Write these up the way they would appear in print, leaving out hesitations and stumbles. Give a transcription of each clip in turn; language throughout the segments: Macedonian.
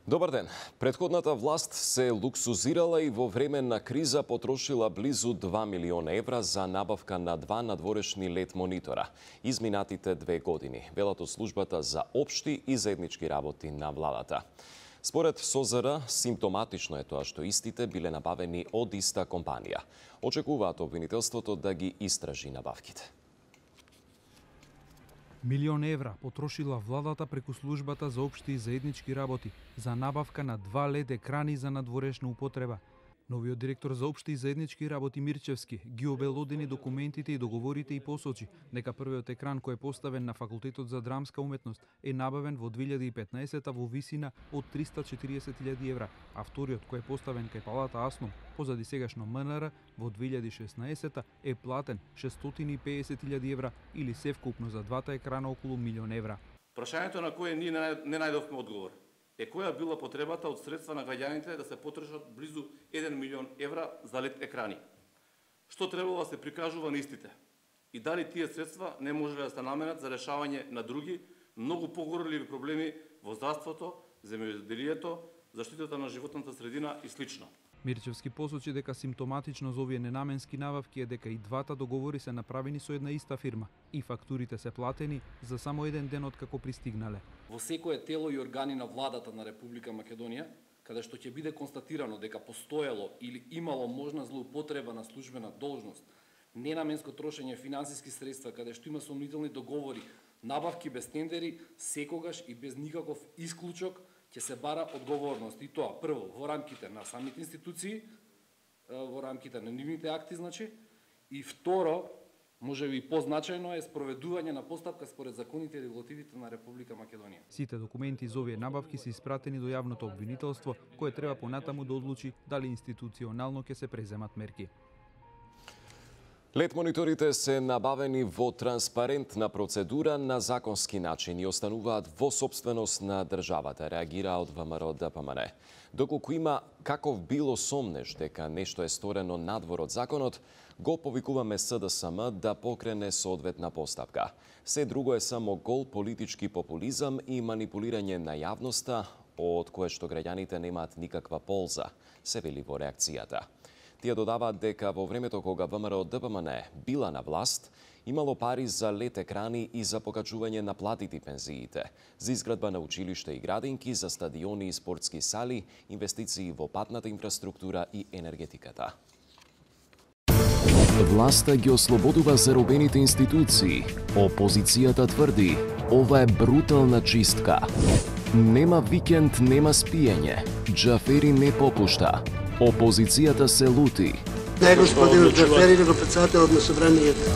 Добар ден. Претходната власт се луксузирала и во време на криза потрошила близу 2 милиона евра за набавка на 2 надворешни лет монитора изминатите 2 години, велат од службата за општи и заеднички работи на владата. Според СОЗР, симптоматично е тоа што истите биле набавени од иста компанија. Очекуваат обвинителството да ги истражи набавките. Милион евра потрошила владата преку службата за општи и заеднички работи за набавка на 2 LED екрани за надворешна употреба. Новиот директор за општи и заеднички работи Мирчевски ги обелодени документите и договорите и посочи дека првиот екран кој е поставен на Факултетот за драмска уметност е набавен во 2015 во висина од 340.000 евра, а вториот кој е поставен кај Палата Асном позади сегашно МНР во 2016 е платен 650.000 евра или севкупно за двата екрана околу милион евра. Прашањето на кое ние не најдовме одговор е која била потребата од средства на граѓаните да се потрошат близу 1 милион евра за LED екрани. Што требало да се прикажува на истите? И дали тие средства не можеле да се наменат за решавање на други, многу погорливи проблеми во здравството, земјоделието, заштитата на животната средина и слично. Мирчевски посочи дека симптоматично за овие ненаменски набавки е дека и двата договори се направени со една иста фирма и фактурите се платени за само еден ден откако пристигнале. Во секое тело и органи на владата на Република Македонија, каде што ќе биде констатирано дека постоело или имало можна злоупотреба на службена должност, ненаменско трошење финансиски средства, каде што има сомнителни договори, набавки без тендери, секогаш и без никаков исклучок, ќе се бара одговорност и тоа прво во рамките на самите институции, во рамките на нивните акти, значи, и второ, можеби и позначајно е спроведување на постапка според законите и регулативите на Република Македонија. Сите документи за овие набавки се испратени до јавното обвинителство, кое треба понатаму да одлучи дали институционално ќе се преземат мерки. LED мониторите се набавени во транспарентна процедура на законски начин и остануваат во собственост на државата, реагира од ВМРО ДПМН. Доколку има каков било сомнеж дека нешто е сторено надвор од законот, го повикуваме СДСМ да покрене соодветна постапка. Се друго е само гол политички популизам и манипулирање на јавноста, од кое што граѓаните немаат никаква полза, се вели во реакцијата. Тие додаваат дека во времето кога ВМРО ДПМН била на власт, имало пари за LED екрани и за покачување на платите и пензиите, за изградба на училишта и градинки, за стадиони и спортски сали, инвестиции во патната инфраструктура и енергетиката. Власта ги ослободува заробените институции. Опозицијата тврди, ова е брутална чистка. Нема викенд, нема спиење. Џафери не попушта. Опозицијата се лути. Не господин Џафери, него председателот на собранието.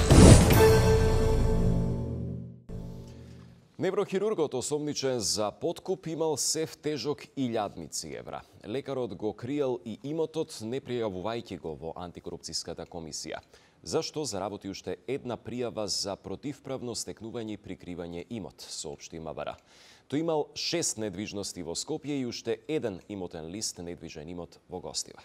Неврохирургот осомничен за подкуп имал сев тежок 1000 евра. Лекарот го криел и имотот не пријавувајќи го во антикорупцијската комисија. Зашто заработи уште една пријава за противправно стекнување и прикривање имот, соопшти МВР. Тој имал 6 недвижности во Скопје и уште еден имотен лист недвижен имот во Гостивар.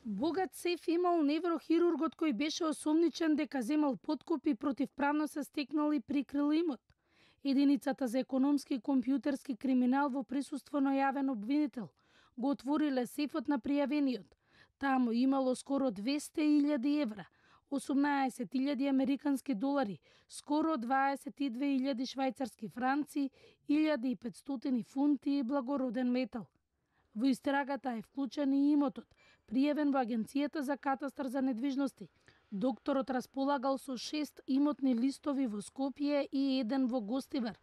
Богат сеф имал неврохирургот кој беше осомничен дека земал подкуп и противправно се стекнал и прикрил имот. Единицата за економски и компјутерски криминал во присуство на јавен обвинител го отвориле сефот на пријавениот. Таму имало скоро 200.000 евра, 18.000 американски долари, скоро 22.000 швајцарски франци, 1.500 фунти и благороден метал. Во истрагата е вклучен и имотот, пријавен во Агенцијата за катастар за недвижности. Докторот располагал со 6 имотни листови во Скопје и еден во Гостивар.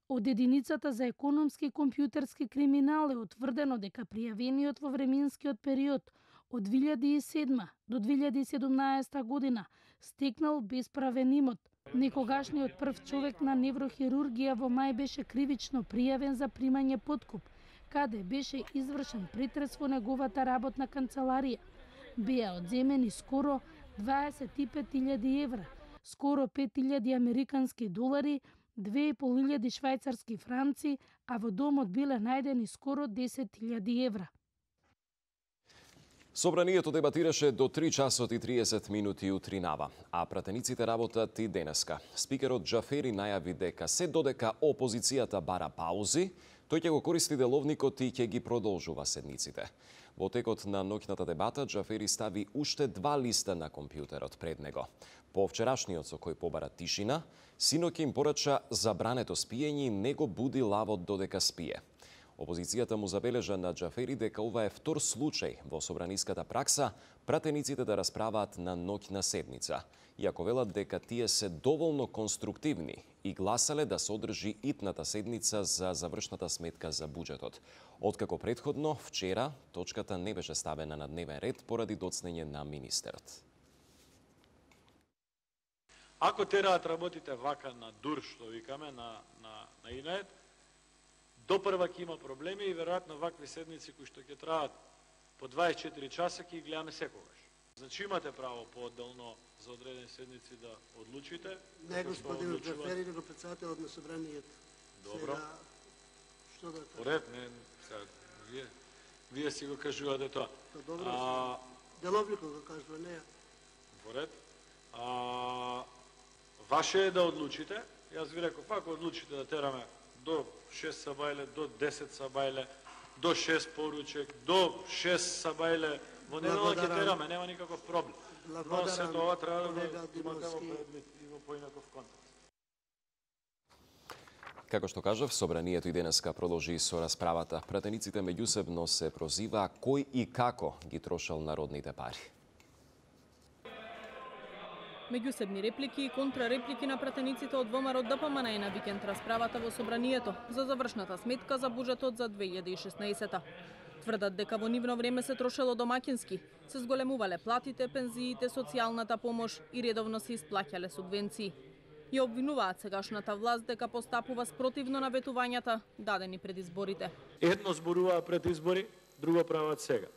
Од единицата за економски и компјутерски криминал е утврдено дека пријавениот во временскиот период од 2007 до 2017 година стекнал бесправен имот. Некогашниот прв човек на неврохирургија во мај беше кривично пријавен за примање подкуп, каде беше извршен претрес во неговата работна канцеларија. Беа одземени скоро 25.000 евра, скоро 5.000 американски долари, 2.500 швајцарски франци, а во домот биле најдени скоро 10.000 евра. Собранието дебатираше до 3 часот и 30 минути утринава, а пратениците работат и денеска. Спикерот Џафери најави дека се додека опозицијата бара паузи, Тој ќе го користи деловникот и ќе ги продолжува седниците. Во текот на ноќната дебата, Џафери стави уште 2 листа на компјутерот пред него. По вчерашниот со кој побара тишина, синоќ им порача забрането спиење и не го буди лавот додека спие. Опозицијата му забележа на Џафери дека ова е втор случај во собраниската пракса пратениците да расправаат на ноќна седница, иако велат дека тие се доволно конструктивни и гласале да се одржи итната седница за завршната сметка за буџетот. Откако претходно, вчера, точката не беше ставена на дневен ред поради доцнење на министерот. Ако тераат работите вака на дур, што викаме, на инет, допрва ќе има проблеми и веројатно вакви седници кои што ќе траат по 24 часа ќе ги гледаме секогаш. Значи имате право поотделно за одредени седници да одлучите. Не, господин Џафери, него председателот на собранието. Добро. Сега, што да кажа? Поред, не, сега, вие си го кажувате тоа. Добро, деловникот го кажува, не ја. Поред. Ваше е да одлучите. Јас ви реков, ако одлучите да тераме до 6 сабајле, до 10 сабајле, до 6 поручек, до 6 сабајле, во недела ќе тераме, нема никаков проблем. Но се тоа треба да имате во предвид и во поинаков контекст. Како што кажав, собранието и денеска продолжи со расправата. Пратениците меѓусебно се прозива кој и како ги трошал народните пари. Меѓусебни реплики и контрареплики на пратениците од ВМРО ДПМН е на викенд расправата во собранието за завршната сметка за буџетот за 2016. Тврдат дека во нивно време се трошело домакински, се зголемувале платите, пензиите, социјалната помош и редовно се исплаќале субвенции. И обвинуваат сегашната власт дека постапува спротивно на ветувањата дадени пред изборите. Едно зборуваа пред избори, друго прават сега.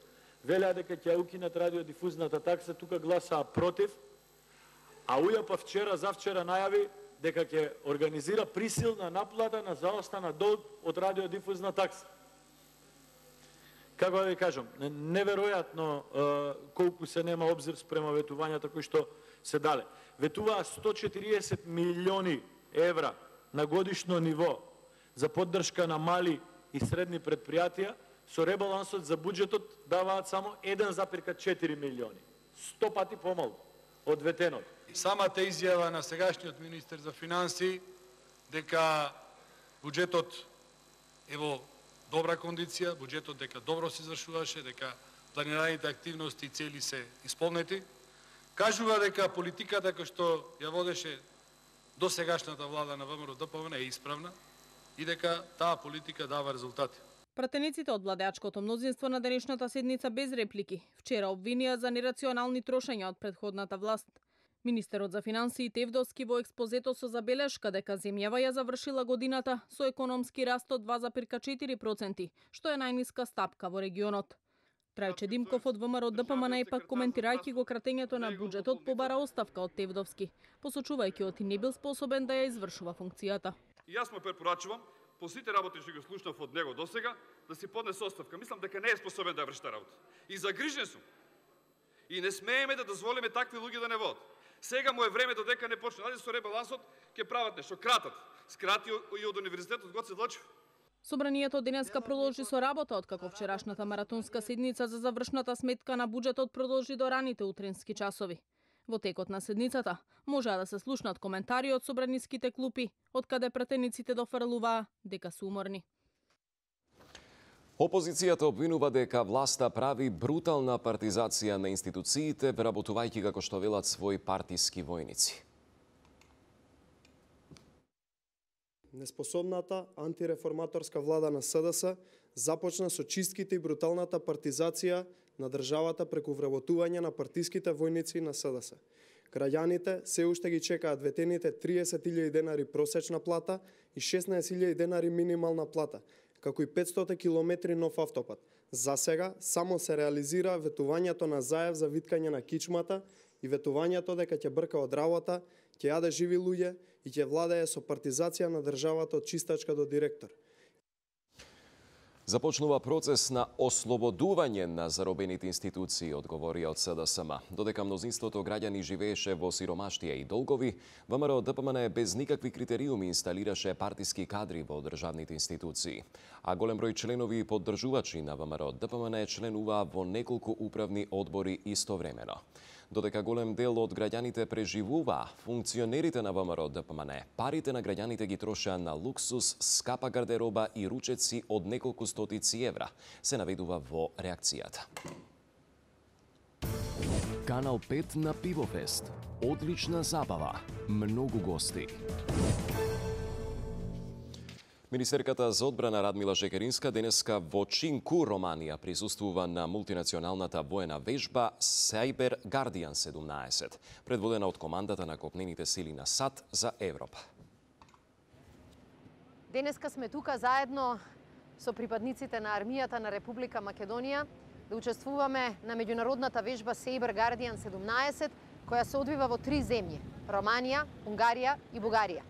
Велеа дека ќе укинат радиодифузната такса, тука гласаа против, а УЈАП вчера, завчера најави дека ќе организира присилна наплата на заостана долг од радиодифузна такса. Како да ви кажам, неверојатно колку се нема обзир спрема ветувањата кои што се дале. Ветуваа 140 милиони евра на годишно ниво за поддршка на мали и средни предпријатија, со ребалансот за буџетот даваат само 1,4 милиони. 100 пати помалку од ветеното. Самата изјава на сегашниот министер за финансии дека буџетот е во добра кондиција, буџетот дека добро се извршуваше, дека планираните активности и цели се исполнети, кажува дека политиката која што ја водеше до сегашната влада на ВМРО ДПМН е исправна и дека таа политика дава резултати. Пратениците од владеачкото мнозинство на денешната седница без реплики вчера обвинија за нерационални трошења од претходната власт. Министерот за финансии Тевдовски во експозето со забелешка дека земјава ја завршила годината со економски раст од 2,4%, што е најниска стапка во регионот. Трајче Димков од ВМРО ДПМН пак коментирајќи го кратењето на буџетот побара оставка од Тевдовски, посочувајќи оти не бил способен да ја извршува функцијата. И јас му препорачувам, по сите работи што ги слушнав од него досега, да си поднесе оставка. Мислам дека не е способен да ја врши таа работа. И загрижен сум. И не смееме да дозволиме такви луѓе да не водат. Сега му е време додека не почне. Најде со ребалансот ќе прават нешто, кратат. Скрати и од универзитетот Гоце Делчев. Собранието денеска продолжи со работа, откако вчерашната маратонска седница за завршната сметка на буџетот продолжи до раните утрински часови. Во текот на седницата можеа да се слушнат коментари од собраниските клупи, од каде пратениците дофрлуваа дека се уморни. Опозицијата обвинува дека власта прави брутална партизација на институциите, вработувајќи како што велат своји партиски војници. Неспособната антиреформаторска влада на СДС започна со чистките и бруталната партизација на државата преку вработување на партиските војници на СДС. Граѓаните се уште ги чекаат ветените 30.000 денари просечна плата и 16.000 денари минимална плата, како и 500 километри нов автопат. За сега само се реализира ветувањето на заев за виткање на кичмата и ветувањето дека ќе брка од работа, ќе јаде живи луѓе и ќе владее со партизација на државата од чистачка до директор. Започнува процес на ослободување на заробените институции, одговори од СДСМ. Додека мнозинството граѓани живееше во сиромаштија и долгови, ВМРО ДПМН без никакви критериуми инсталираше партиски кадри во државните институции. А голем број членови и поддржувачи на ВМРО ДПМН членуваа во неколку управни одбори истовремено. Додека голем дел од граѓаните преживуваа, функционерите на ВМРО ДПМН парите на граѓаните ги трошеа на луксус, скапа гардероба и ручеци од неколку стотици евра, се наведува во реакцијата. Канал 5 на Пивофест. Одлична забава, многу гости. Министерката за одбрана Радмила Жекеринска денеска во Чинку, Романија, присуствува на мултинационалната воена вежба Cyber Guardian 17, предводена од командата на копнените сили на САД за Европа. Денеска сме тука заедно со припадниците на армијата на Република Македонија да учествуваме на меѓународната вежба Cyber Guardian 17, која се одвива во 3 земји – Романија, Унгарија и Бугарија.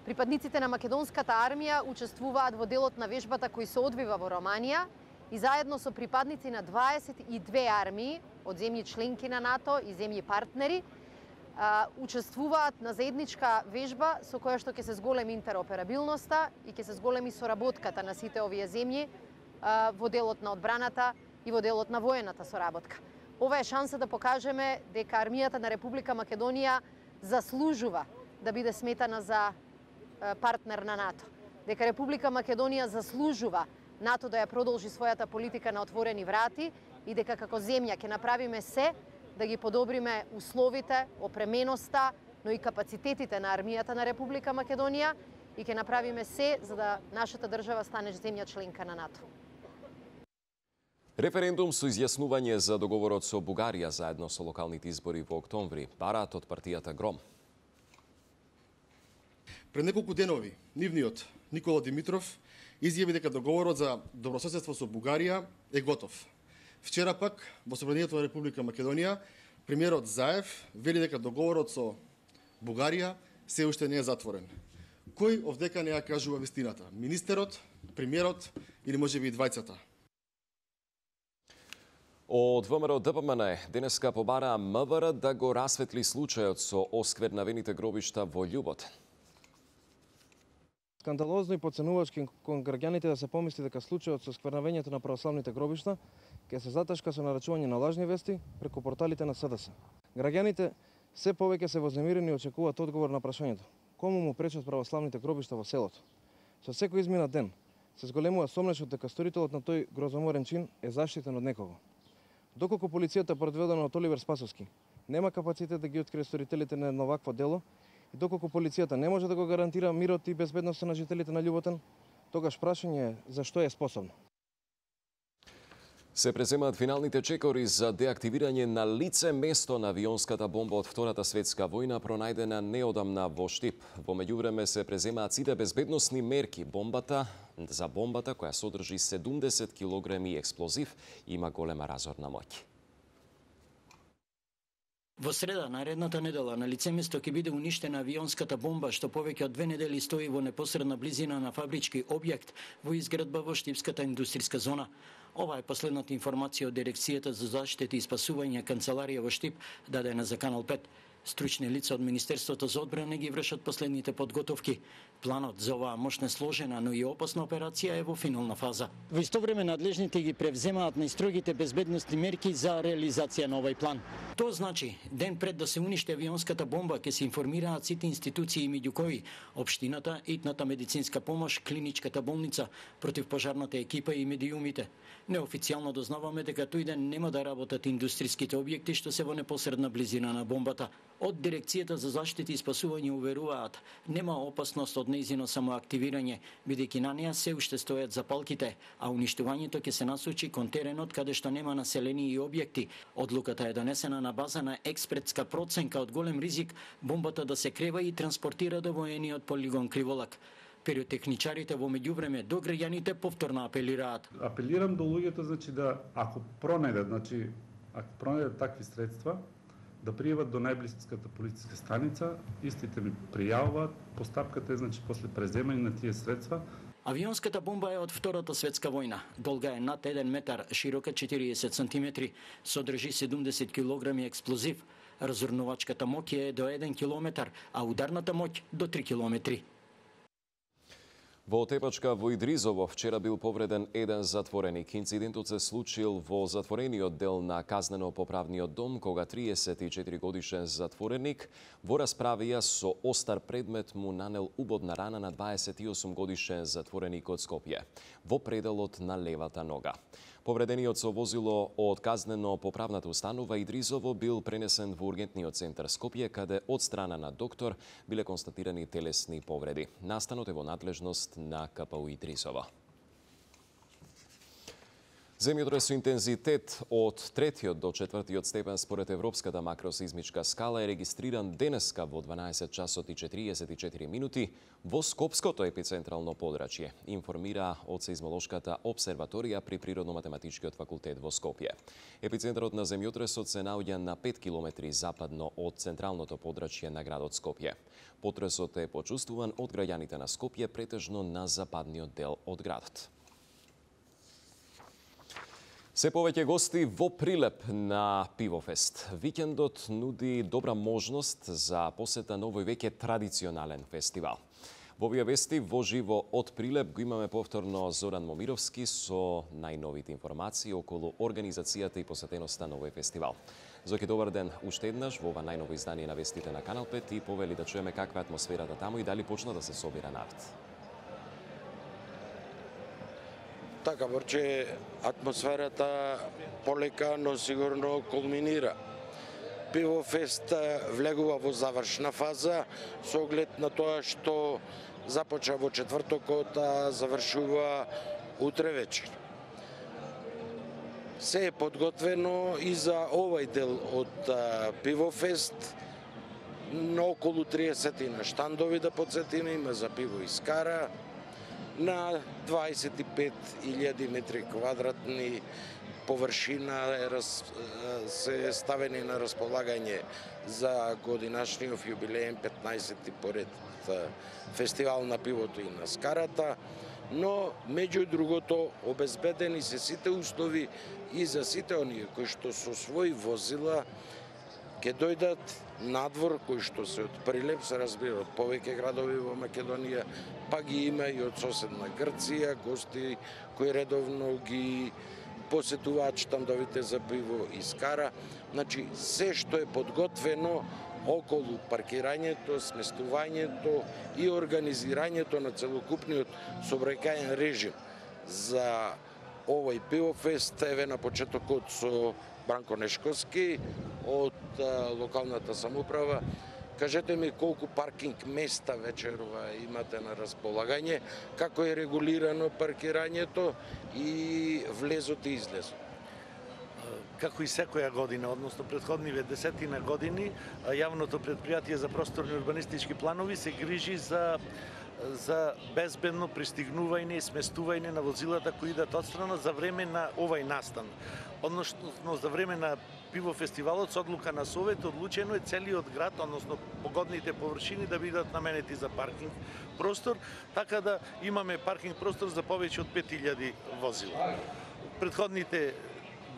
Припадниците на македонската армија учествуваат во делот на вежбата кој се одвива во Романија и заедно со припадници на 22 армии од земји членки на НАТО и земји партнери учествуваат на заедничка вежба со која што ќе се зголеми интероперабилноста и ќе се зголеми соработката на сите овие земји во делот на одбраната и во делот на воената соработка. Ова е шанса да покажеме дека армијата на Република Македонија заслужува да биде сметана за партнер на НАТО. Дека Република Македонија заслужува НАТО да ја продолжи својата политика на отворени врати и дека како земја ќе направиме се да ги подобриме условите, опременоста, но и капацитетите на армијата на Република Македонија и ќе направиме се за да нашата држава стане земја членка на НАТО. Референдум со изјаснување за договорот со Бугарија заедно со локалните избори во октомври, бараат од партијата Гром. Пред неколку денови, нивниот Никола Димитров изјави дека договорот за добрососедство со Бугарија е готов. Вчера пак, во Собранието на Република Македонија, премиерот Заев вели дека договорот со Бугарија се уште не е затворен. Кој овдека не ја кажува вистината? Министерот, премиерот или можеби и двајцата? Од ВМРО ДПМН денеска побараа МВР да го расветли случајот со осквернавените гробишта во Љуботен. Скандалозно и подценувачки кон граѓаните да се помисли дека случајот со сквернавењето на православните гробишта ќе се затешка со нарачување на лажни вести преку порталите на СДС. Граѓаните се повеќе се вознемирени и очекуваат одговор на прашањето: кому му пречат православните гробишта во селото? Со секој изминат ден се зголемува сомнешот дека сторителот на тој грозоморен чин е заштитен од некого. Доколку полицијата предводена од Оливер Спасовски нема капацитет да ги открие сторителите на едно вакво дело, и доколку полицијата не може да го гарантира мирот и безбедноста на жителите на Љуботен, тогаш прашање е за што е способно. Се преземаат финалните чекори за деактивирање на лице место на авионската бомба од Втората светска војна пронајдена неодамна во Штип. Во меѓувреме се преземаат сите безбедносни мерки. Бомбата која содржи 70 килограми експлозив има голема разорна моќ. Во среда, наредната недела, на лице место ќе биде уништена авионската бомба, што повеќе од 2 недели стои во непосредна близина на фабрички објект во изградба во Штипската индустријска зона. Ова е последната информација од Дирекцијата за заштита и спасување канцеларија во Штип, дадена за Канал 5. Стручни лица од Министерството за одбрана ги вршат последните подготовки. Планот за оваа мощна сложена, но и опасна операција е во финална фаза. Во исто време надлежните ги превземаат најстрогите безбедносни мерки за реализација на овој план. Тоа значи, ден пред да се уништи авионската бомба, ќе се информираат сите институции меѓу кои општината, итната медицинска помош, клиничката болница, противпожарната екипа и медиумите. Неофицијално дознаваме дека тој ден нема да работат индустријските објекти што се во непосредна близина на бомбата. Од Дирекцијата за заштита и спасување уверуваат, нема опасност од нејзино самоактивирање, бидејќи на неа се уште стојат запалките, а уништувањето ќе се насочи кон теренот каде што нема населени и објекти. Одлуката е донесена на база на експертска проценка од голем ризик бомбата да се крева и транспортира до воениот полигон Криволак. Пиротехничарите во меѓувреме до граѓаните повторно апелираат. Апелирам до луѓето, да ако пронајдат такви средства, да пријават до најблиската полициска станица, истите ми пријавуваат, постапката е после преземање на тие средства. Авионската бомба е од Втората светска војна. Долга е над 1 метар, широка 40 сантиметри, содржи 70 килограми експлозив. Разурнувачката моќ е до 1 километар, а ударната моќ до 3 километри. Во Тепачка во Идризово вчера бил повреден еден затвореник. Инцидентот се случил во затворениот дел на Казнено-поправниот дом, кога 34 годишен затвореник во расправија со остар предмет му нанел убодна рана на 28 годишен затвореник од Скопје во пределот на левата нога. Повредениот со возило од Казнено-поправната установа Идризово бил пренесен во ургентниот центар Скопје, каде од страна на доктор биле констатирани телесни повреди. Настанот е во надлежност на КПУ Идризово. Земјотрес со интензитет од 3 до 4 степен според Европската макросизмичка скала е регистриран денеска во 12 часот и 44 минути во Скопското епицентрално подрачје, информира од Сеизмолошката обсерваторија при Природно-математичкиот факултет во Скопје. Епицентарот на земјотресот се наоѓа на 5 километри западно од централното подрачје на градот Скопје. Потресот е почувствуван од граѓаните на Скопје, претежно на западниот дел од градот. Се повеќе гости во Прилеп на Пивофест. Викендот нуди добра можност за посета на овој веќе традиционален фестивал. Во овие вести во живо од Прилеп го имаме повторно Зоран Момировски со најновите информации околу организацијата и посетеноста на овој фестивал. Зоки, добар ден уште еднаш во ова најново издание на вестите на Канал 5 и повели да чуеме каква е атмосферата таму и дали почна да се собира народ. Така, борче, атмосферата полека, но сигурно кулминира. Пивофест влегува во завршна фаза, со оглед на тоа што започна во четвртокот, а завршува утре вечер. Се е подготвено и за овај дел од Пивофест, на околу 30 на штандови, да подсетиме, има за пиво и скара, на 25.000 метри квадратни површина се ставени на располагање за годинашниот јубилеен 15-ти поред фестивал на пивото и на скарата, но меѓу другото обезбедени се сите услови и за сите оние кои што со своји возила ќе дојдат надвор, кои што се од Прилеп, се разбира од повеќе градови во Македонија, па ги има и од соседна Грција, гости кои редовно ги посетуваат штандовите за пиво и скара. Значи, се што е подготвено околу паркирањето, сместувањето и организирањето на целокупниот сообраќајен режим за овој пивофест, еве на почетокот со Бранко Нешковски од локалната самоуправа. Кажете ми колку паркинг места вечерова имате на располагање, како е регулирано паркирањето и влезот и излезот? Како и секоја година, односно претходниве 10 години, јавното претпријатие за просторни урбанистички планови се грижи за безбедно пристигнување и сместување на возилата кои идат одстрана за време на овај настан. Односно за време на пивофестивалот, со одлука на Совет, одлучено е целиот град, односно погодните површини да бидат наменети за паркинг простор, така да имаме паркинг простор за повеќе од 5000 возила. Предходните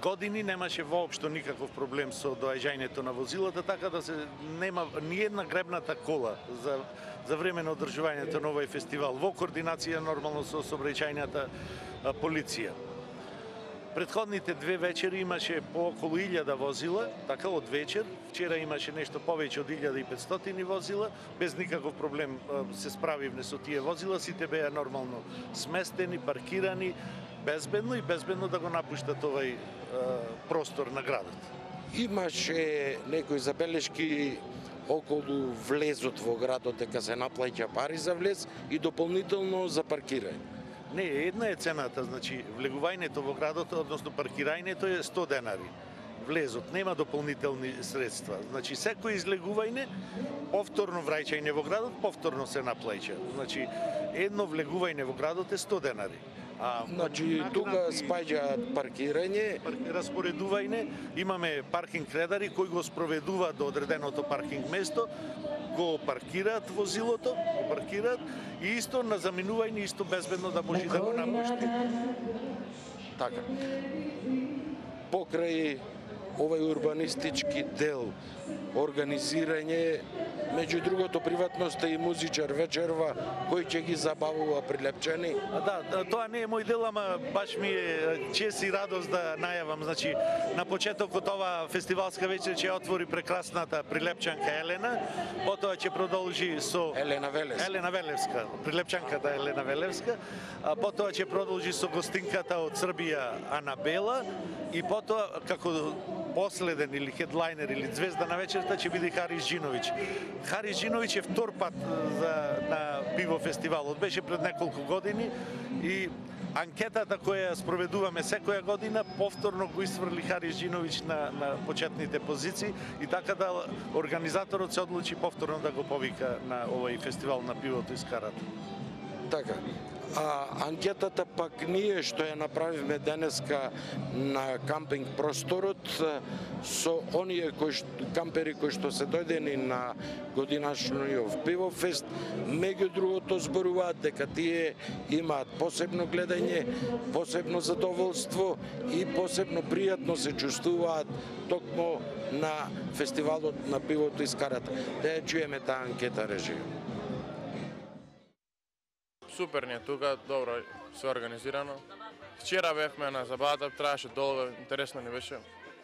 години немаше воопшто никаков проблем со доаѓањето на возилата, така да се нема ни една гребната кола за време на одржувањето на овој фестивал, во координација нормално со сообраќајната полиција. Предходните две вечери имаше по околу 1000 возила, така од вечер. Вчера имаше нешто повеќе од 1500 возила, без никаков проблем се справивме со тие возила, сите беа нормално сместени, паркирани, безбедно да го напуштат овај простор на градот. Имаше некои забелешки околу влезот во градот, дека се наплаќа пари за влез и дополнително за паркирање. Не, една е цената, значи влегувањето во градот, односно паркирањето е 100 денари. Влезот, нема дополнителни средства. Значи секој излегување, повторно враќање во градот, повторно се наплаќа. Значи едно влегување во градот е 100 денари. Значи тука спаѓаат паркирање, распоредување, имаме паркинг редари кои го спроведуваат до одреденото паркинг место, го паркираат возилото, и исто на заминување исто безбедно да може да го напушти. Така. Покрај овој урбанистички дел, организирање, меѓу другото приватноста и музичар вечерва кој ќе ги забавува Прилепчани. Да, тоа не е мој дел, ама баш ми е чест и радост да најавам. Значи, на почетокот ова фестивалска вечер ќе отвори прекрасната Прилепчанка Елена, потоа ќе продолжи со Елена Велевска, Прилепчанката Елена Велевска, а потоа ќе продолжи со гостинката од Србија Анабела и потоа како последен или хедлайнер или звезда на вечерта ќе биде Харис Джиновиќ. Харис Джиновиќ е втор пат на пиво фестивалот. Беше пред неколку години и анкетата која спроведуваме секоја година повторно го исфрли Харис Джиновиќ на почетните позиции и така да организаторот се одлучи повторно да го повика на овој фестивал на пивото из Карата. Така. А анкетата пак ние што ја направивме денеска на кампинг просторот со оние кампери кои што се дојдени на годинашниот пивофест, меѓу другото зборуваат дека тие имаат посебно гледање, посебно задоволство и посебно пријатно се чувствуваат токму на фестивалот на пивото из Карата. Да ја чуеме таа анкета, режија. Супер ни е тука, добро се организирано. Вчера бевме на забавата, траеше долго, интересно ни беше.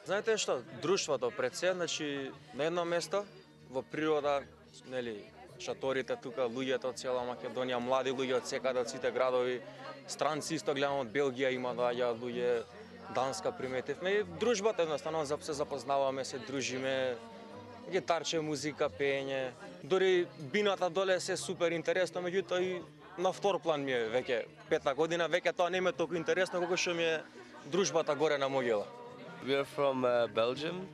Знаете што, друштвото пред се, значи на едно место, во природа, нели, шаторите тука, луѓето од цела Македонија, млади луѓе од секаде, од сите градови, странци исто гледам од Белгија има доаѓаат луѓе, Данска приметивме и дружбата едноставно се запознаваме, се дружиме, гитарче, музика, пеење. Дори бината доле се супер интересно, меѓутоа и на втор план ми е веќе 5-та година, веќе тоа не ми е толку интересно колку што ми е дружбата горе на Могила. We are from Belgium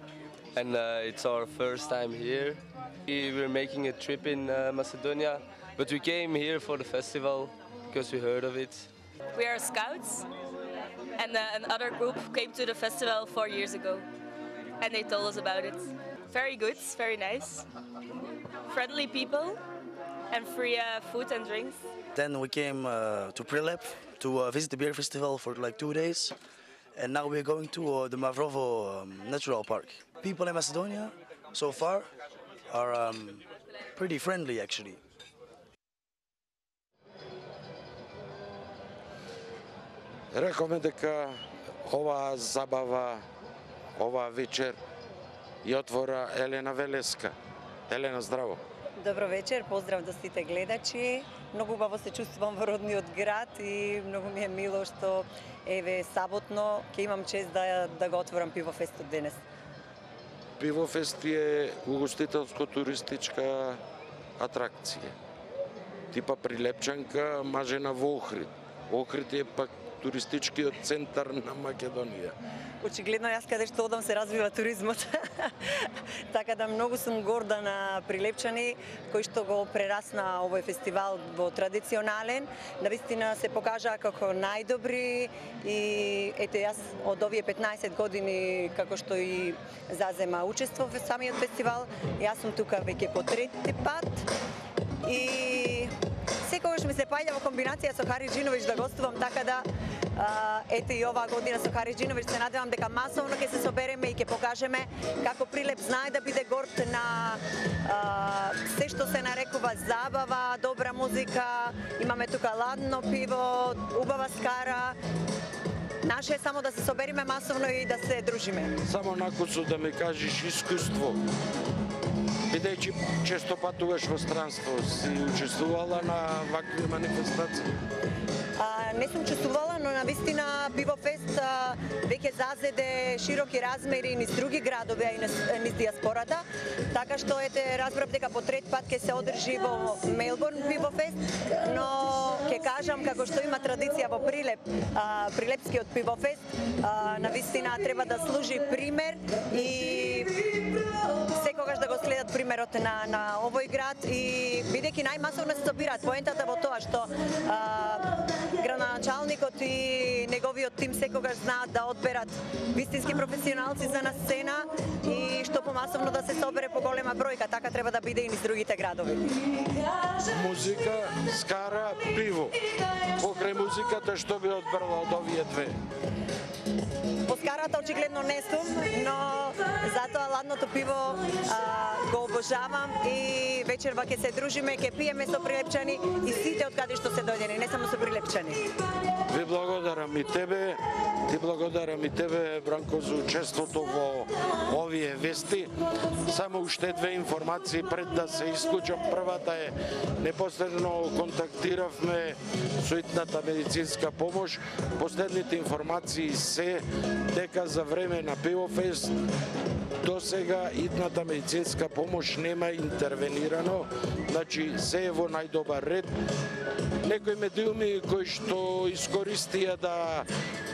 and it's our first time here. We're making a trip in Macedonia, but we came here for the festival because we heard of it. We are scouts and another group came to the festival 4 years ago and they told us about it. Very good, very nice. Friendly people and free food and drinks. Then we came to Prilep to visit the beer festival for like 2 days. And now we're going to the Mavrovo Natural Park. People in Macedonia, so far, are pretty friendly actually. Рековме дека оваа забава, оваа вечер ја отвора Елена Велеска. Елена, здраво. Добро вечер, поздрав до сите гледачи. Многу убаво се чувствувам во родниот град и многу ми е мило што еве саботно ќе имам чест да го отворам пивофестот денес. Пивофест е угостителско-туристичка атракција. Типа Прилепчанка, мажена во Охрид. Охрид е пак туристичкиот центар на Македонија. Очигледно јас каде што одам се развива туризмот. Така да многу сум горда на Прилепчани кои што го прерасна овој фестивал во традиционален. Навистина се покажа како најдобри и ете јас од овие 15 години како што и зазема учество во самиот фестивал, јас сум тука веќе по трети пат и секогаш ми се паѓа во комбинација со Харис Джиновиќ да гостувам, така да ете и оваа година со Харис Джиновиќ се надевам дека масовно ќе се собереме и ќе покажеме како Прилеп знае да биде горд на се што се нарекува забава, добра музика, имаме тука ладно пиво, убава скара. Наше е само да се собериме масовно и да се дружиме. Само накусу да ми кажеш искуство. Бидејќи често патуваш во странство, си учествувала на вакви манифестации? Не сум учествувала, но навистина Пивофест веќе зазеде широки размери низ други градови, а и низ диаспората. Така што ете разбрав дека по трет пат ќе се одржи во Мелбурн Пивофест, но ќе кажам како што има традиција во Прилеп, Прилепскиот Пивофест, навистина треба да служи пример и секогаш да го следат примерот на овој град и бидејќи најмасовно се собираат, поентата во тоа што градоначалникот и неговиот тим секогаш знаат да одберат вистински професионалци за на сцена и што што помасовно да се собере по голема бројка, така треба да биде и низ другите градови. Музика, скара, пиво. Покрај музиката што би одбрала од овие две? По скарата очигледно не сум, но затоа ладното пиво го обожавам и вечерва ќе се дружиме, ќе пиеме со Прилепчани и сите од каде што се дојдени, не само со Прилепчани. Ви благодарам и тебе, ти благодарам и тебе, Бранко, за учеството во овие вести. Само уште две информации пред да се исклучам. Првата е, непосредно контактиравме со итната медицинска помош. Последните информации се дека за време на Пивофест до сега итната медицинска помош нема интервенирано, значи се е во најдобар ред. Некои медиуми кои што искористија да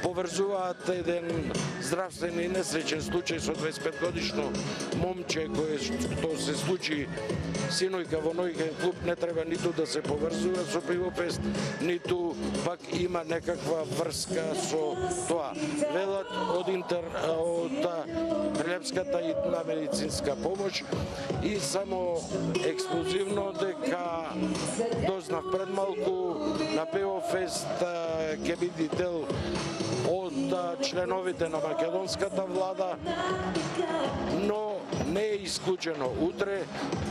поврзуваат еден здравствен и несреќен случај со 25 годишно момче кое што се случи синојка во ноќен клуб, не треба ниту да се поврзува со Пивофест, ниту пак има некаква врска со тоа. Велат од Прилепската итна медицинска помош и само ексклузивно дека дознав пред малку на Пивофест ќе биде дел од членовите на македонската влада, но не е исклучено утре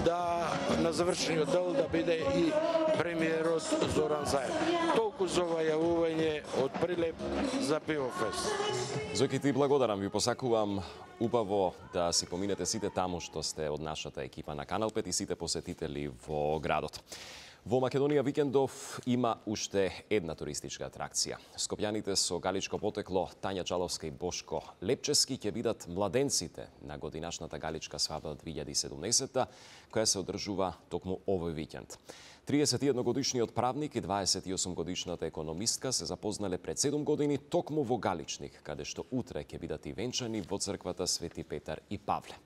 да на завршениот дел да биде и премиерот Зоран Заев. Толку за ова јавување од Прилеп за Пивофест. Зоки, ти благодарам, ви посакувам убаво да си поминете сите таму што сте од нашата екипа на Канал 5 и сите посетители во градот. Во Македонија викендов има уште една туристичка атракција. Скопјаните со галичко потекло Тања Чаловска и Бошко Лепчески ќе бидат младенците на годинашната галичка свадба 2017, која се одржува токму овој викенд. 31-годишниот правник и 28-годишната економистка се запознале пред 7 години токму во Галичник, каде што утре ќе бидат и венчани во црквата Свети Петар и Павле.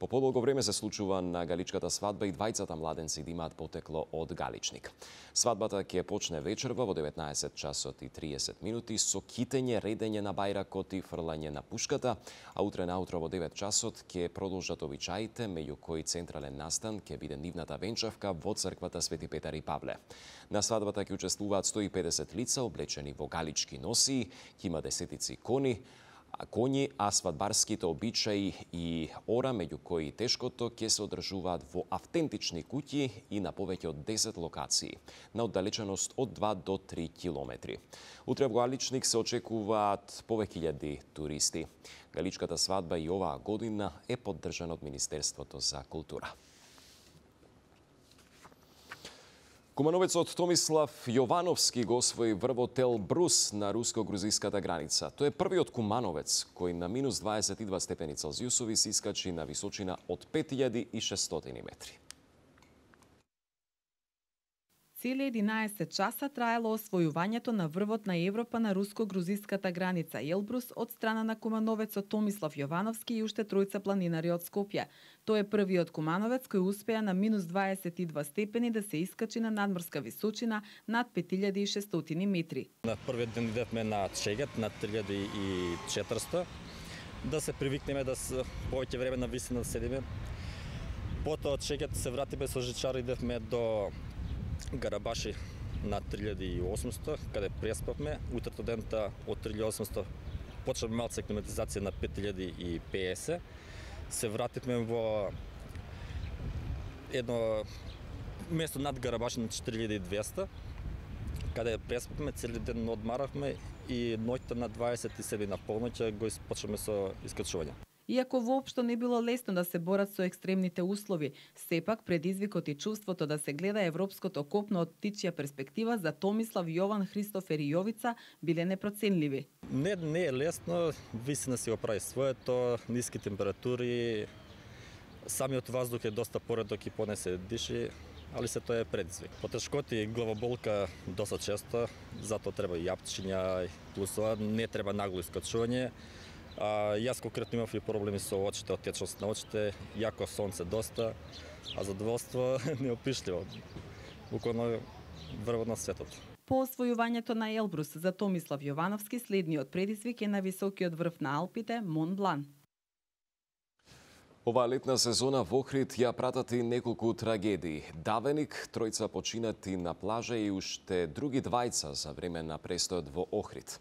По подолго време се случува на галичката свадба и двајцата младенци да имаат потекло од Галичник. Свадбата ќе почне вечерва во 19 часот и 30 минути со китење, редење на бајракот и фрлање на пушката, а утре наутро во 9 часот ќе продолжат обичаите, меѓу кои централен настан ќе биде нивната венчавка во црквата Свети Петар и Павле. На свадбата ќе учествуваат 150 лица облечени во галички носии, ќе има десетици конји, а свадбарските обичаи и ора, меѓу кои тешкото, ќе се одржуваат во автентични куќи и на повеќе од 10 локации, на оддалеченост од 2 до 3 километри. Утре во Галичник се очекуваат повеќе илјади туристи. Галичката свадба и оваа година е поддржана од Министерството за култура. Кумановецот Томислав Јовановски го освои врвот Елбрус на руско-грузиската граница. Тој е првиот кумановец кој на минус 22 степени Целзиусови се искачи на височина од 5600 метри. Цели 11 часа траело освојувањето на врвот на Европа на руско-грузиската граница Елбрус од страна на кумановецот Томислав Јовановски и уште тројца планинари од Скопје. Тој е првиот кумановец кој успеа на минус 22 степени да се искачи на надморска височина над 5600 метри. На првиот ден идевме на Чегет на 3400 да се привикнеме да повеќе време на висина седиме. Потоа од Чегет се вратиме со жичар, идевме до Гарабаши на 3800, каде преспавме. Утрето дента од 3800 почнавме малце климатизација на 5050. Се вративме во едно место над Гарабаши на 4200, каде преспавме, цели ден одмаравме и ноќта на 27 на полноќ го почнавме со искачување. Иако воопшто не било лесно да се борат со екстремните услови, сепак предизвикот и чувството да се гледа европското копно од птичја перспектива за Томислав, Јован, Христофер и Јовица биле непроценливи. Не е лесно, висина си го прави своето, ниски температури, самиот воздух е доста поредок и поне се диши, али се тоа е предизвик. Потешкоти и главоболка доста често, затоа треба и јапчиња, плюс тоа не треба нагло искачување. Јас конкретно имав и проблеми со очите, отечност на очите, јако сонце доста, а задоволство неопишливо. Буквално врвот на светот. По освојувањето на Елбрус за Томислав Јовановски, следниот предизвик е на високиот врв на Алпите, Мон Блан. Оваа летна сезона во Охрид ја пратат и неколку трагедии. Давеник, тројца починати на плажа и уште други двајца за време на престојот во Охрид.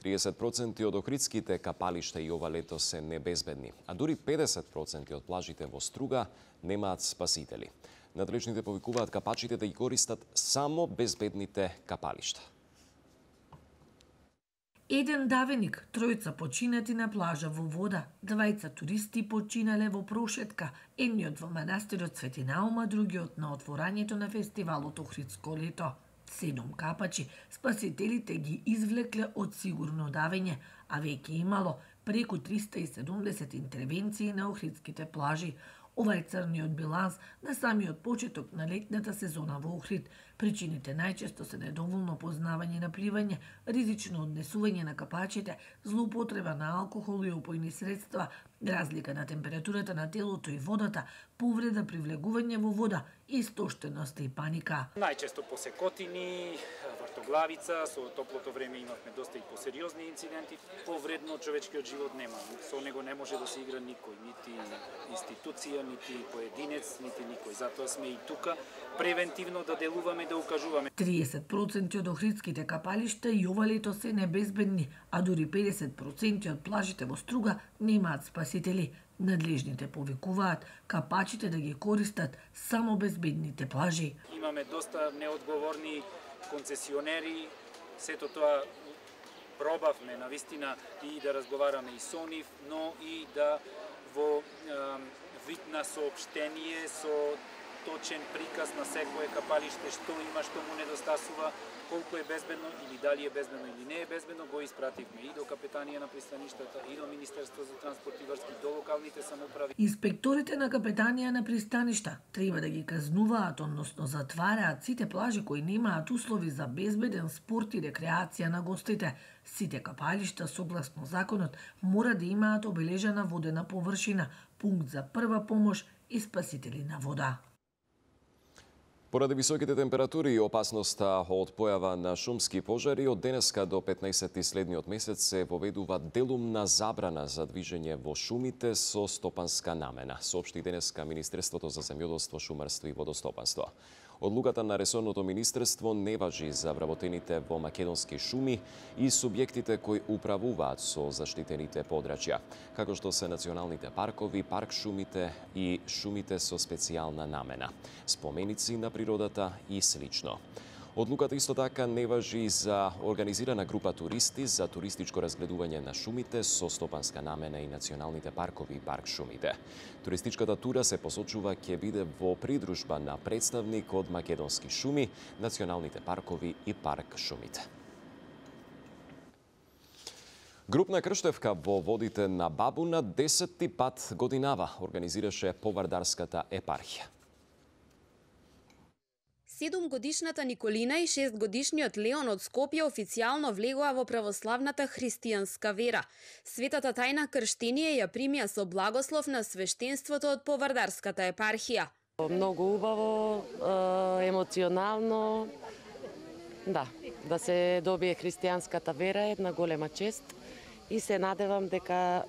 30% од охридските капалишта и ова лето се небезбедни, а дури 50% од плажите во Струга немаат спасители. Надлежните повикуваат капачите да ги користат само безбедните капалишта. Еден давеник, тројца починати на плажа во вода, двајца туристи починале во прошетка, едниот во манастирот Свети Наума, другиот на отворањето на фестивалот Охридско лето. 7 капачи спасителите ги извлекле од сигурно давење, а веќе имало преку 370 интервенции на охридските плажи. Ова е црниот биланс на самиот почеток на летната сезона во Охрид. Причините најчесто се недоволно познавање на пливање, ризично однесување на капачите, злоупотреба на алкохол и опојни средства, разлика на температурата на телото и водата, повреда при влегување во вода, истоштеност и паника. Најчесто посекотини, вртоглавица, со топлото време имавме доста и посериозни инциденти. Повредно човечкиот живот нема. Со него не може да се игра никој, нити институција, нити поединец, нити никој. Затоа сме и тука превентивно да делуваме, да укажуваме. 30% од охридските капалишта и ова лето се небезбедни, а дури 50% од плажите во Струга немаат спасители. Надлежните повикуваат капачите да ги користат само безбедните плажи. Имаме доста неодговорни концесионери, сето тоа пробавме навистина и да разговараме и со нив, но и да во вид на соопштение со точен приказ на секое капалиште што има, што му недостасува, колку е безбедно или дали е безбедно или не е безбедно, го испративме и до капетанија на пристаништата, и до Министерство за транспорт и врски, до локалните самоуправи. Инспекторите на капетанија на пристаништа треба да ги казнуваат, односно затвараат сите плажи кои немаат услови за безбеден спорт и рекреација на гостите. Сите капалишта, согласно законот, мора да имаат обележана водена површина, пункт за прва помош и спасители на вода. Поради високите температури и опасноста од појава на шумски пожари, од денеска до 15 следниот месец се воведува делумна забрана за движење во шумите со стопанска намена, соопшти денеска Министерството за земјоделство, шумарство и водостопанство. Одлуката на ресорното министерство не важи за вработените во македонски шуми и субјектите кои управуваат со заштитените подрачја, како што се националните паркови, парк шумите и шумите со специјална намена, споменици на природата и слично. Одлуката исто така не важи за организирана група туристи за туристичко разгледување на шумите со стопанска намена и националните паркови и парк шумите. Туристичката тура се посочува ќе биде во придружба на представник од македонски шуми, националните паркови и парк шумите. Групна крштевка во водите на Бабуна 10-ти пат годинава организираше Повардарската епархија. 7-годишната Николина и 6-годишниот Леон од Скопје официјално влегоа во православната христијанска вера. Светата тајна крштение ја примија со благослов на свештенството од Повардарската епархија. Многу убаво, емоционално, да се добие христијанската вера е една голема чест и се надевам дека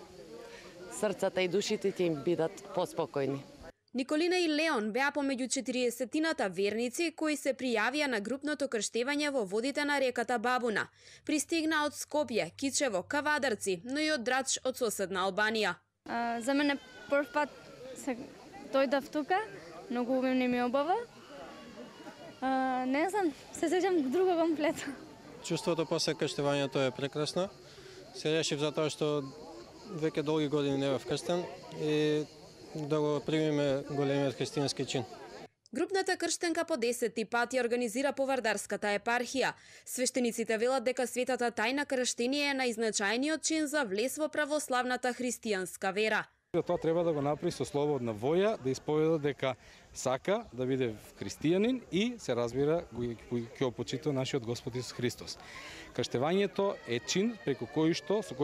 срцата и душите ќе им бидат поспокојни. Николина и Леон беа помеѓу 40-тината верници кои се пријавија на групното крштевање во водите на реката Бабуна. Пристигна од Скопје, Кичево, Кавадарци, но и од Драч од соседна Албанија. За мене прв пат се дојдав тука, многу умемни ми обава. Не знам, се сеќам друго комплето. Чувството после крштевањето е прекрасно. Се решив затоа што веќе долги години не бев крстен и да го примиме големиот христијански чин. Групната крштенка по 10-ти пат ја организира Повардарската епархија. Свештениците велат дека светата тајна крштение е најзначајниот чин за влез во православната христијанска вера. Тоа треба да го направи со слободна воја, да исповеда дека сака да биде христијанин и се разбира ќе почитува нашиот Господ Исус Христос. Крштевањето е чин со кој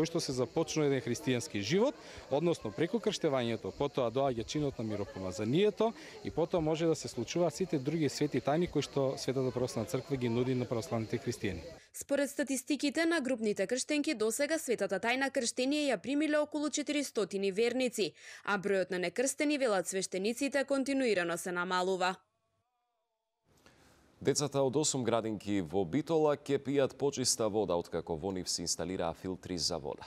што се започнува еден христијански живот, односно преку крштевањето, потоа доаѓа чинот на миропомазанието и потоа може да се случуваат сите други свети тајни кои што Светата православна црква ги нуди на православните христијани. Според статистиките на групните крштенки, досега Светата тајна крштение ја примиле околу 400 верници, а бројот на некрстени, велат свештениците, континуирано се намалува. Децата од 8 градинки во Битола ќе пијат почиста вода откако во нив се инсталираа филтри за вода.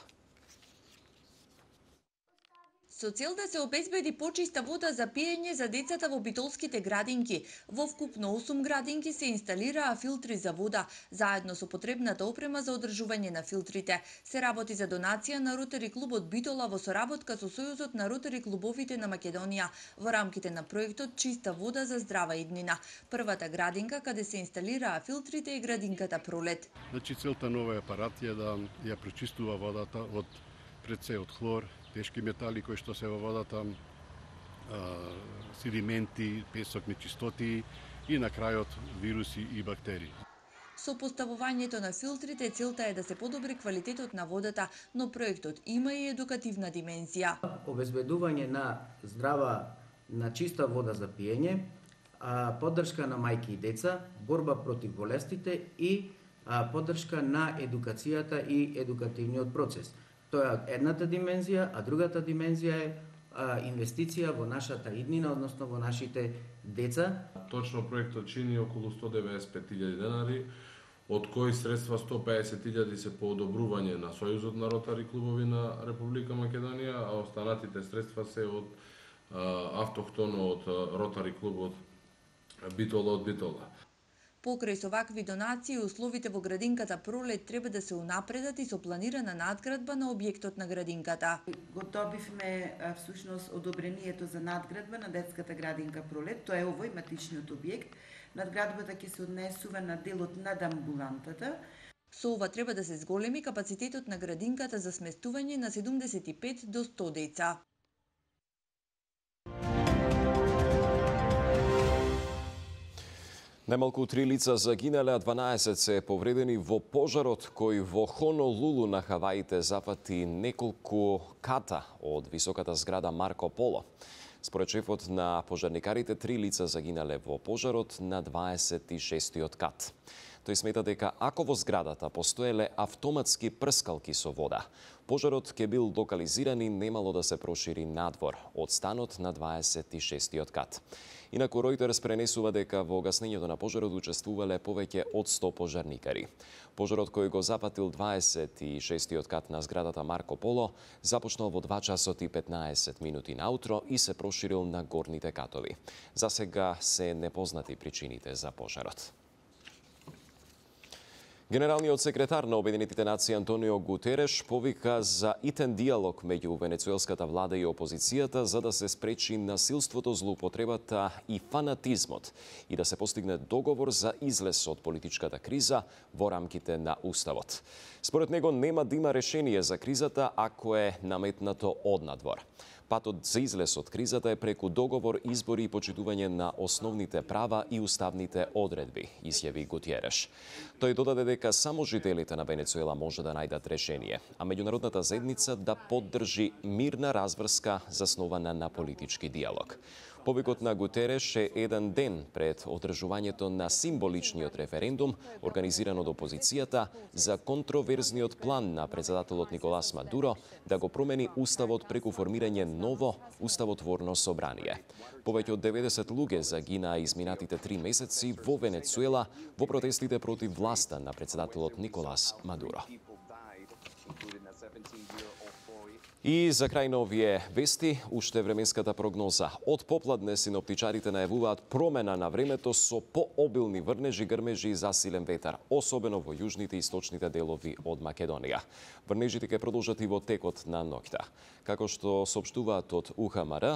Со цел да се обезбеди почиста вода за пиење за децата во битолските градинки, во вкупно 8 градинки се инсталираа филтри за вода, заедно со потребната опрема за одржување на филтрите. Се работи за донација на Ротари клубот Битола во соработка со Сојузот на Ротари клубовите на Македонија во рамките на проектот Чиста вода за здрава иднина. Првата градинка каде се инсталираа филтрите е градинката Пролет. Значи целта на овој апарат е да ја пречистува водата од пред се од хлор, тешки метали кои што се во водата, седименти, песок, нечистоти и на крајот вируси и бактерии. Со поставувањето на филтрите целта е да се подобри квалитетот на водата, но проектот има и едукативна димензија. Обезбедување на здрава, на чиста вода за пиење, поддршка на мајки и деца, борба против болестите и поддршка на едукацијата и едукативниот процес. Тоа е едната димензија, а другата димензија е инвестиција во нашата иднина, односно во нашите деца. Точно проектот чини околу 195.000 денари, од кои средства 150.000 се по одобрување на Сојузот на Ротари клубови на Република Македонија, а останатите средства се од автохтоно од Ротари клубот Битола од Битола. Покрај со вакви донации, условите во градинката Пролет треба да се унапредат и со планирана надградба на објектот на градинката. Го добивме всушност одобрението за надградба на детската градинка Пролет. Тоа е овој матичниот објект. Надградбата ќе се однесува на делот над амбулантата. Со ова треба да се зголеми капацитетот на градинката за сместување на 75 до 100 деца. Најмалку 3 лица загинале, а 12 се повредени во пожарот кој во Хонолулу на Хаваите запати неколку ката од високата зграда Марко Поло. Според шефот на пожарникарите, 3 лица загинале во пожарот на 26-тиот кат. Тој смета дека ако во зградата постоеле автоматски прскалки со вода, пожарот ќе бил локализиран и немало да се прошири надвор од станот на 26-тиот кат. Инаку Ројтерс пренесува дека во гаснењето на пожарот учествувале повеќе од 100 пожарникари. Пожарот кој го запатил 26-тиот кат на зградата Марко Поло започнал во 2 часот и 15 минути наутро и се проширил на горните катови. За сега се непознати причините за пожарот. Генералниот секретар на Обединетите нации Антонио Гутереш повика за итен диалог меѓу венецуелската влада и опозицијата за да се спречи насилството, злоупотребата и фанатизмот и да се постигне договор за излез од политичката криза во рамките на Уставот. Според него нема да има решение за кризата ако е наметнато однадвор. Патот за излез од кризата е преку договор, избори и почитување на основните права и уставните одредби, изјави Гутереш. Тој додаде дека само жителите на Венецуела може да најдат решение, а меѓународната заедница да поддржи мирна разврска заснована на политички диалог. Повикот на Гутереш е еден ден пред одржувањето на символичниот референдум, организиран од опозицијата, за контроверзниот план на председателот Николас Мадуро да го промени уставот преку формирање ново уставотворно собрание. Повеќе од 90 луѓе загинаа изминатите 3 месеци во Венецуела во протестите против власта на председателот Николас Мадуро. И за крај на овие вести, уште временската прогноза. Од попладне синоптичарите најавуваат промена на времето со пообилни врнежи, грмежи и засилен ветар, особено во јужните и источните делови од Македонија. Врнежите ќе продолжат и во текот на ноќта. Како што соопштуваат од УХМР,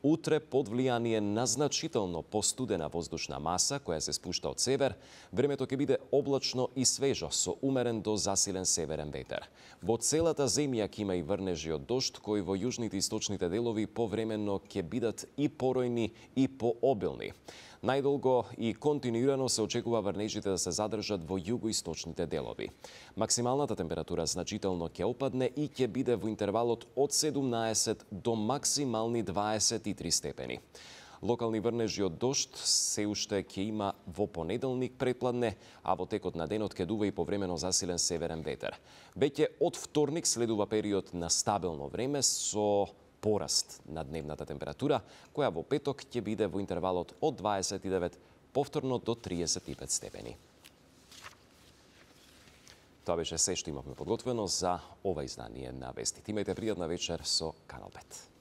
Утре, под влијание на значително постудена воздушна маса, која се спушта од север, времето ќе биде облачно и свежо, со умерен до засилен северен ветер. Во целата земја ќе има и врнежи од дожд, кои во јужните и источните делови повремено ќе бидат и поројни и пообилни. Најдолго и континуирано се очекува врнежите да се задржат во југоисточните делови. Максималната температура значително ќе опадне и ќе биде во интервалот од 17 до максимални 23 степени. Локални врнежи од дожд се уште ќе има во понеделник предпладне, а во текот на денот ќе дува и повремено засилен северен ветер. Веќе од вторник следува период на стабилно време со пораст на дневната температура, која во петок ќе биде во интервалот од 29 повторно до 35 степени. Тоа беше се што имавме подготвено за ова издание на Вестите. Имајте пријатна вечер со Канал 5.